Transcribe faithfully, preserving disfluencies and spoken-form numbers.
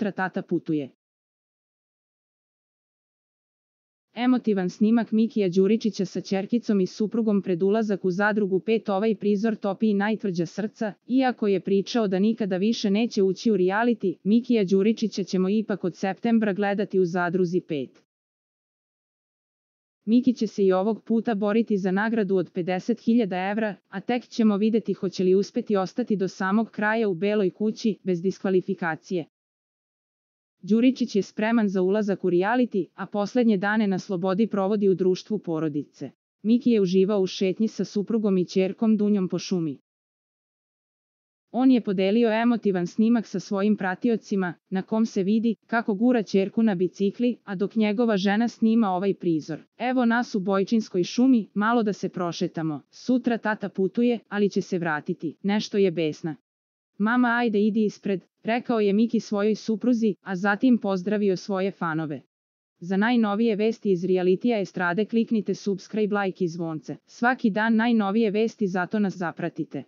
sutra tata putuje. Emotivan snimak Mikija Đuričića sa ćerkicom i suprugom pred ulazak u Zadrugu pet. Ovaj prizor topi i najtvrđa srca, iako je pričao da nikada više neće ući u reality, Mikija Đuričića ćemo ipak od septembra gledati u Zadruzi pet. Miki će se i ovog puta boriti za nagradu od pedeset hiljada evra, a tek ćemo videti hoće li uspeti ostati do samog kraja u Beloj kući, bez diskvalifikacije. Đuričić je spreman za ulazak u reality, a poslednje dane na slobodi provodi u društvu porodice. Miki je uživao u šetnji sa suprugom i ćerkom Dunjom po šumi. On je podelio emotivan snimak sa svojim pratiocima, na kom se vidi kako gura ćerku na bicikli, a dok njegova žena snima ovaj prizor. Evo nas u Bojčinskoj šumi, malo da se prošetamo. Sutra tata putuje, ali će se vratiti. Nešto je besna. Mama, ajde idi ispred, rekao je Miki svojoj supruzi, a zatim pozdravio svoje fanove. Za najnovije vesti iz realitija estrade kliknite subscribe, like i zvonce. Svaki dan najnovije vesti, zato nas zapratite.